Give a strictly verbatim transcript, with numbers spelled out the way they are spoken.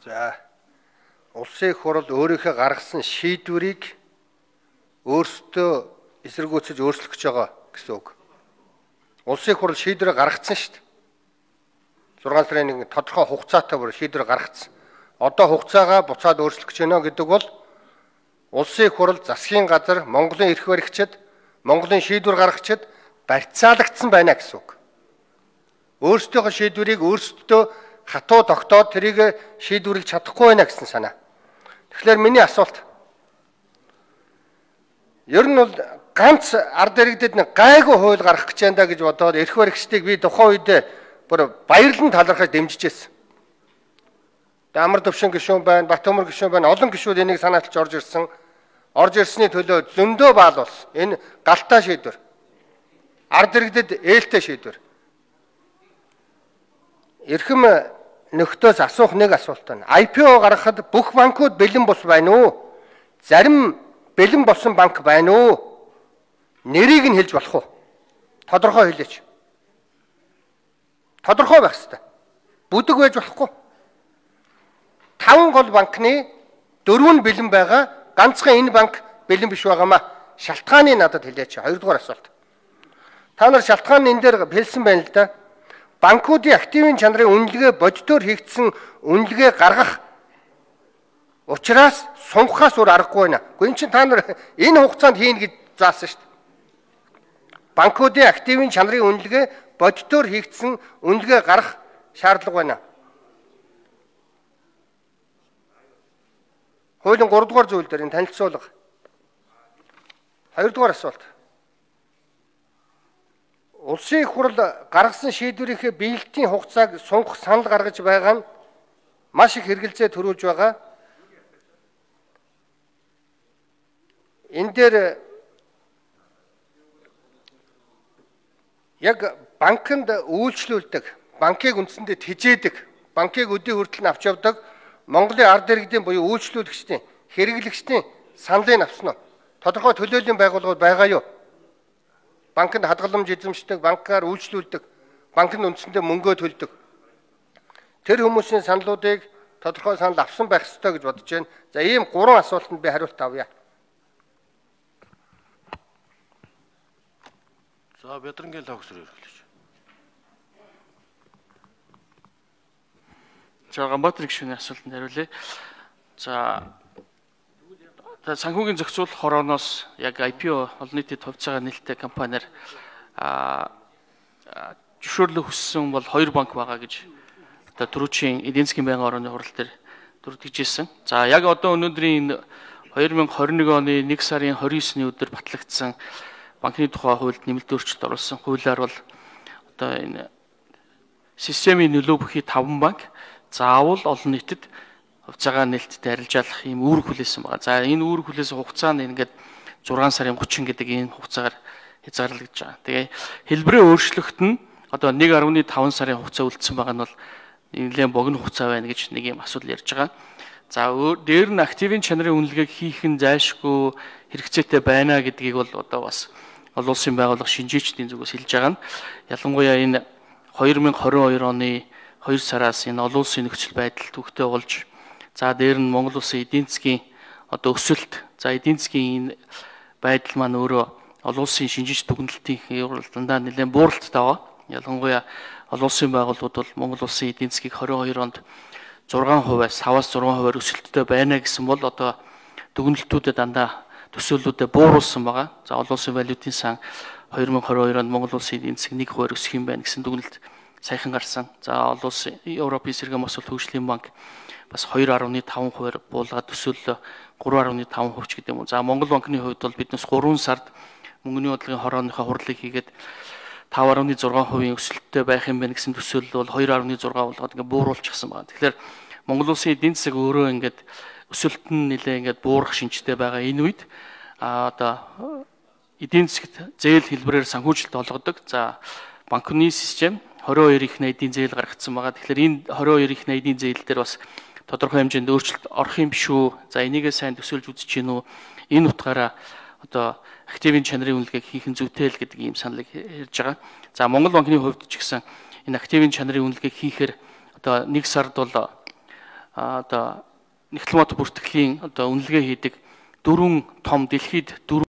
За улсын их хурл өөрийнхөө гаргасан шийдвэрийг өөрсдөө эсэргүүцэж өөрчлөх гэж байгаа гэсэн үг. Улсын их хурл шийдвэрээ гаргацсан шүү дээ. зургаан сарын нэг тодорхой хугацаатай бүр шийдвэр гаргацсан. Одоо хугацаагаа буцаад өөрчлөх гэж байна гэдэг бол улсын их хурл засгийн газар Монголын эрх баригчид, Монголын шийдвэр гаргагчид барьцаалагдсан байна гэсэн үг. Өөрсдийнхөө шийдвэрийг өөрсдөө хатуу тогтоод тэрийг шийдвэрлэж чадахгүй байна гэсэн санаа. Тэгэхээр миний асуулт. Ер нь бол ганц ард иргэдэд нэг гайгүй хууль гаргах гэж байна гэж бодоод эрх баригчдыг би тухайн үед бүр баярлан талархаж дэмжижсэн. Амар төвшин гишүүн байна, Батөмөр гишүүн байна, олон гишүүд энийг санааталж орж ирсэн. Орж ирсний төлөө зөндөө баал болсон. Энэ галтаа шийдвэр. Ард иргэдэд ээлтэй шийдвэр. Эрхэм нөхдөөс асуух нэг асуулт байна. ай пи о гаргахад бүх банкуд бэлэн бус байна уу? Зарим бэлэн болсон банк байна уу? Нэрийг нь хэлж болох уу? Тодорхой хэлээч. Тодорхой байх ёстой. Бүдэг байж болохгүй. Таван гол банкны дөрөв нь бэлэн байгаа. Ганцхан энэ банк бэлэн биш байгаамаа. Шалтгааны надад хэлээч. Хоёрдугаар асуулт. Та нар шалтгааны энэ дээр хэлсэн байна л да. Банкуудын активын чанарын үнэлгээ бодитоор хийгдсэн үнэлгээ гаргах учраас сунгахаас өөр аргагүй байна. Гэхдээ энэ чинь та нар энэ хугацаанд хийнэ гэж заасан шүү дээ. Банкуудын активын чанарын үнэлгээ бодитоор хийгдсэн үнэлгээ гаргах шаардлага байна. Хуулийн гурав дугаар зүйл дээр энэ танилцуулга. Хоёрдугаар асуулт. Улсын их хурл гаргасан шийдвэрийнхээ биелэлтийн хугацааг сунгах санал гаргаж байгаа нь маш их хэрэгэлзээ төрүүлж байгаа. Энэ дээр яг банкнд үйлчлүүлдэг, банкыг үндсэндээ тэжээдэг, банкыг өдий хүртэл нь авч явдаг Монголын ард иргэдийн буюу үйлчлүүлэгчдийн, хэрэглэгчдийн саналыг авсан нь тодорхой төлөөллийн байгууллагууд байгаа юу? Банкнд хадгаламж эзэмшдэг, банкаар үйлчлүүлдэг, банкнд үндсэндээ мөнгөө төлдөг. Тэр хүмүүсийн саналуудыг тодорхой санал авсан байх ёстой гэж бодож байна. За ийм гурван асуултанд би хариулт авъя. За Бядрангын логсор эрхлэж. За Ганбаатар гишүүний асуултанд хариулъя. За санхүүгийн зохицуулах хорооноос яг ай пи о олон нийтэд хувьцаагаа нээлттэй компаниар зөвшөөрлөө хүссэн бол хоёр банк байгаа гэж одоо түрүүчийн эдийн засгийн байнгын орооны хурал дээр дүрдэгжсэн. За яг одоо өнөөдрийн хоёр мянган хорин нэг оны нэг сарын хорин есний өдөр батлагдсан банкны тухай хуульд нэмэлт өөрчлөлт оруулсан хуулиар бол одоо энэ системийн нөлөө бүхий таван банк заавал олон нийтэд хувьцаагаа нээлттэй арилжаалах ийм үүрэг хүлээсэн байгаа. За энэ үүрэг хүлээсэн хугацаа нь ингээд зургаан сарын гучин гэдэг энэ хугацаагаар хязгаарлагдж байгаа. Тэгээ хэлбэрээ өөрчлөхт нь одоо нэг арван таван сарын хугацаа үлдсэн байгаа нь бол нэлээд богино хугацаа байна гэж нэг юм асуудал ярьж байгаа. За дээр нь активын чанарын үнэлгээг хийх нь зайлшгүй хэрэгцээтэй байна гэдгийг бол одоо бас олон улсын байгууллага шинжээчдийн зүгээс хэлж байгаа нь ялангуяа энэ хоёр мянган хорин хоёр оны хоёр сараас энэ олон улсын нөхцөл байдал төвхтэй болж за дээр нь Монгол улсын эдийн засгийн одоо өсөлт, за эдийн засгийн энэ байдал маань өөрөө олон улсын шинжиж дүгнэлтийн дандаа нэлээд бууралттай байгаа. Ялангуяа олон улсын байгууллагууд бол Монгол улсын эдийн засгийг хорин хоёр онд зургаан хувиас таваас зургаан хувиар өсөлттэй байна гэсэн бол одоо дүгнэлтүүдэд дандаа төсөөллүүдэд бууруулсан байгаа. За олон улсын валютын сан хоёр мянган хорин хоёр онд Монгол улсын эдийн засаг нэг хувиар өсөх юм байна гэсэн дүгнэлт саяхан гарсан. За олон улсын Европын эсэргэн босол хөгжлийн банк бас хоёр арван таван хувиар буулгаад төсөөллөө гурван арван таван хувьч гэдэг юм уу. За Монгол банкны хувьд бол биднес гурван сард мөнгөний бодлогын хорооныхоо хурлыг хийгээд тав арван зургаан хувийн өсөлттэй байх юм байна гэсэн төсөөлөл бол хоёр арван зургаан болгоод ингээд бууруулчихсан байна. Тэгэхээр Монгол улсын эдийн засаг өөрөө ингээд өсөлт нь нэлээ ингээд буурах шинжтэй байгаа энэ үед а одоо эдийн засагт зээл хэлбэрээр санхүүжилт олгодог. За банкны систем двадцать хоёр их найдын зээл гаргацсан байгаа. Тэгэхээр энэ двадцать хоёр их найдын зээл дээр бас тодорхой хэмжээнд өөрчлөлт орох юм биш үү? За энийгээ сайн төсөөлж үзэж гин үү? Энэ утгаараа одоо активын чанарын үнэлгээг хийх нь зүйтэй л гэдэг ийм саналыг ярьж байгаа. За Монгол банкны хувьд ч гэсэн энэ активын чанарын үнэлгээг хийхээр одоо нэг сард бол одоо Нягтлмат бүртгэлийн одоо үнэлгээ хийдэг дөрвөн том дэлхийд